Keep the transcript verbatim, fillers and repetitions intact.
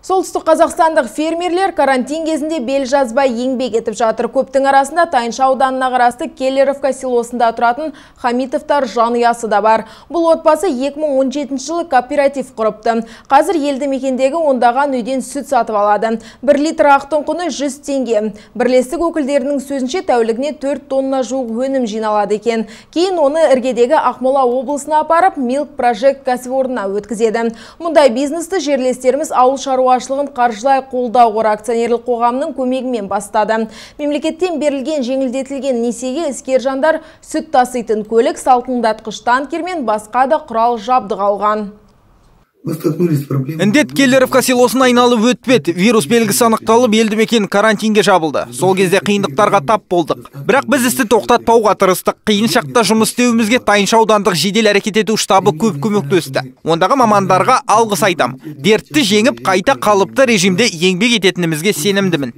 Солтүстік қазақстандық фермерлер карантин кезінде бел жазбай еңбек етіп жатыр. Көптің арасында Тайынша ауданына қарасты Келлеровка селосында тұратын Хамитовтар жанұясы да бар. Бұл отбасы екі мың он жетінші жылы кооператив құрыпты. Қазір елді мекендегі ондаған үйден сүт сатып алады. бір литр ақтың құны жүз теңге. Бірлестік өкілдерінің сөзінше тәулігіне төрт тонна жуық өнім жиналады екен. Кейін оны іргедегі Ақмола облысына апарып, Milk Project кәсіпорнына өткізеді. Мұндай бизнесті жерлестеріміз ауыл шаруашылығын қаржылай қолдау қоры акционерлік қоғамының көмегімен бастады. Мемлекеттен берілген жеңілдетілген несиеге іскер жандар сүт таситын көлік, салқындатқыш танкер мен басқа да құрал жабдық алған. Індет Келлеровка селосын айналып өтпеді. Вирус белгісі анықталып, елді мекен карантинге жабылды. Сол кезде қиындықтарға тап болдық. Бірақ біз істі тоқтатпауға тырыстық. Қиын шақта жұмыс істеуімізге Тайынша аудандық жедел әрекет ету штабы көп көмектесті. Ондағы мамандарға алғыс айтам. Дертті жеңіп, қайта қалыпты режимде еңбек ететінімізге сенімдімін.